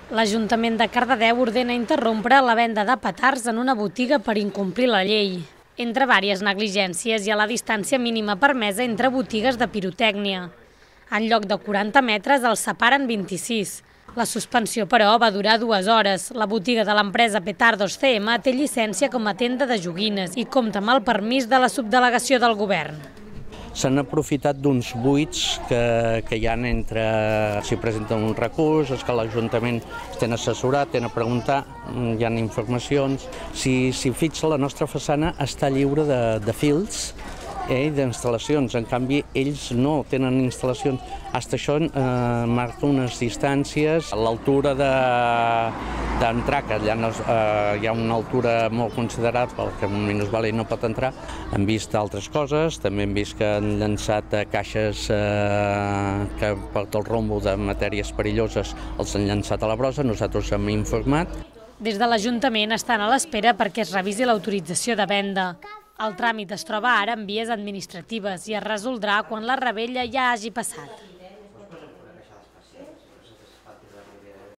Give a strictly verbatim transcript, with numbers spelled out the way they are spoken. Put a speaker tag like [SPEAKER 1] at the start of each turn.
[SPEAKER 1] L'Ajuntament de Cardedeu ordena interrompre la venda de petards en una botiga per incomplir la llei. Entre vàries negligències hi ha la distància mínima permesa entre botigues de pirotècnia. En lloc de quaranta metres els separen vint-i-sis. La suspensió, però, va durar dues hores. La botiga de l'empresa Petardos C M té llicència com a tenda de joguines i compta amb el permís de la subdelegació del govern.
[SPEAKER 2] S'han aprofitat d'uns buits que, que hi ha entre si presenten un recurs, és que l'Ajuntament estan assessorat, tenen a preguntar, hi ha informacions. Si, si fixa, la nostra façana està lliure de, de fils eh, i d'instal·lacions, en canvi ells no tenen instal·lacions. Hasta això eh, marca unes distàncies, a l'altura de d'entrar, que allà no, eh, hi ha una altura molt considerable, que un minusvàlid no pot entrar. Hem vist altres coses, també hem vist que han llançat caixes eh, que per tot el rombo de matèries perilloses els han llançat a la brossa, nosaltres hem informat.
[SPEAKER 1] Des de l'Ajuntament estan a l'espera perquè es revisi l'autorització de venda. El tràmit es troba ara en vies administratives i es resoldrà quan la rebella ja hagi passat.